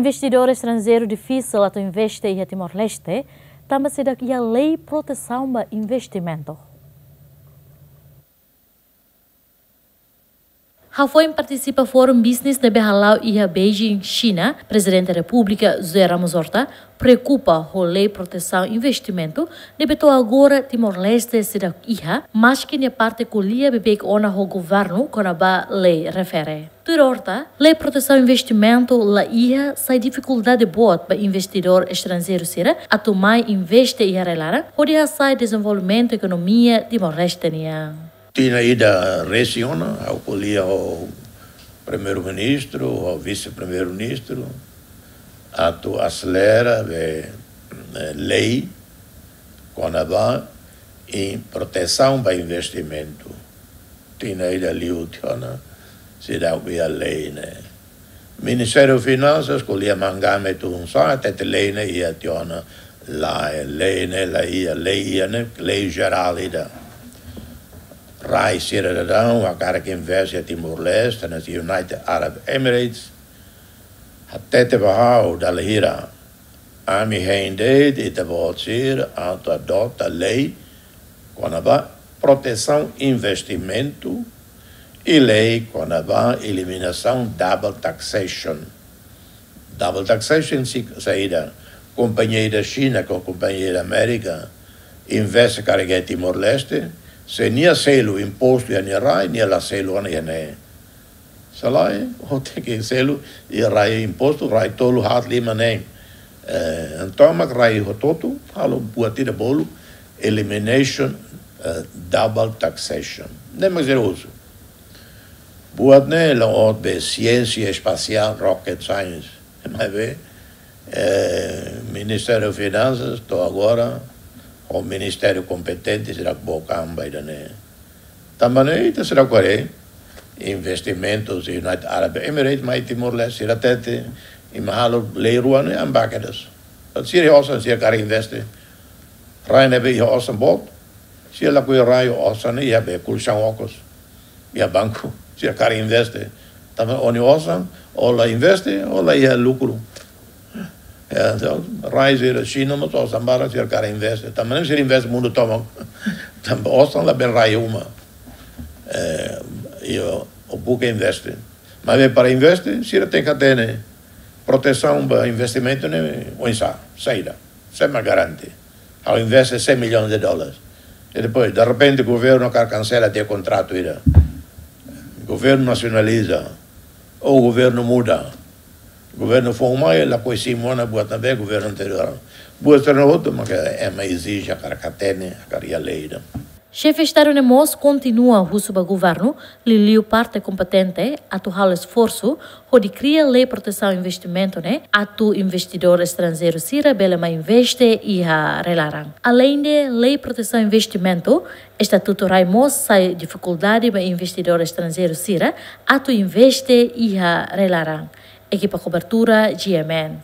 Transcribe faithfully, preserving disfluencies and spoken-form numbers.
Investidór estranjeiru difisil atu investe iha Timor-Leste, tanba seidauk iha lei protesaun ba investimentu. Hafoin partisipa fórum business ne'ebé hala'o iha Beijing, Xina, Prezidente Repúblika José Ramos Horta preokupa ho lei protesaun investimentu ne'ebé to'o agora Timor-Leste seidauk iha, maski nia parte ko'alia beibeik ona ho governu kona-ba lei refere. Tuir Horta, lei protesaun investimentu la iha sai difikuldade boot ba investidór estranjeiru sira atu mai investe iha rai-laran hodi hasa'e dezenvolvimentu ekonomia Timor-Leste nian. Tinan ida resin ona, ha'u ko'alia ho Primeiru-Ministru, ho Vise-Primeiru-Ministru, atu aselera be, eh, lei kona-ba protesaun ba investimentu. Tinan ida liu tiha ona, seidauk iha lei ne'e. Ministériu Finansas ko'alia mangame tun sa, hatete lei ne'e iha tiha ona, lae, lei ne'e la iha, lei iha ne'e lei jerál ida. Rai sira daudaun hakarak investe iha Timor-Leste, no United Arab Emirates, hatete ba ha'u dala hira. Ami hein de'it ita-boot sira atu adota lei kona-ba protesaun investimentu i lei kona-ba eliminasaun double taxation. Double taxation si-, saida? Kompañia ida Xina ho kompañia ida Amérika investe karik iha Timor-Leste, se nia selu impostu iha nia rai, nia la selu ona iha ne'e. Se lae, o tenke selu iha rai impostu, rai tolu, haat, lima ne'e. Eh, entaun mak rai hotu-hotu halo buat ida bolu elimination, eh, double taxation. Ne'e mak sira husu. Buat ne'e la'ós be siénsia espasiál, rocket science. Maibé, eh, Ministériu Finansas to'o agora, ho ministériu kompetente, sira book an ba ida-ne'e. Tanba ne'e ita seidauk haree investimentu husi United Arab Emirates mai Timor-Leste, sira hatete, imi halo lei rua ne'e, ami bá kedas. Sira iha osan, sira hakarak investe. Rai ne'ebé iha osan boot, sira lakohi rai, osan ne'e iha be kolxaun okos, iha banku, sira hakarak investe. Tanba o-nia osan, o la investe, o la iha lukru. Ya, entaun, rai sira Xina mós osan barak, sira hakarak investe. Tanba ne'e sira investe mundu tomak. Tanba osan labele rai uma. Eh, i o, o buka investe. Maibé para investe, sira tenke hatene protesaun ba investimentu ne'e, oinsá, saida, sé mak garante. Ha'u investe cem milhões de dólares. I depois, de repente, governu hakarak kansela tiha kontratu ida. Governu nasionaliza, ou governu muda. Governu foun mai, lakohi simu ona buat ne'ebé governu anteriór. Buat sira-ne'e hotu mak ema ezije, hakarak hatene, hakarak iha lei ida. Xefe Estadu ne'e mós kontinua husu ba governu, liuliu parte kompetente, atu halo esforsu hodi kria lei protesaun investimentu ne'e, atu investidór estranjeiru sira bele mai investe iha rai-laran. Aleinde lei protesaun investimentu, estatutu rai mós sai difikuldade ba investidór estranjeiru sira atu investe iha rai-laran. Ekipa kobertura, G M N.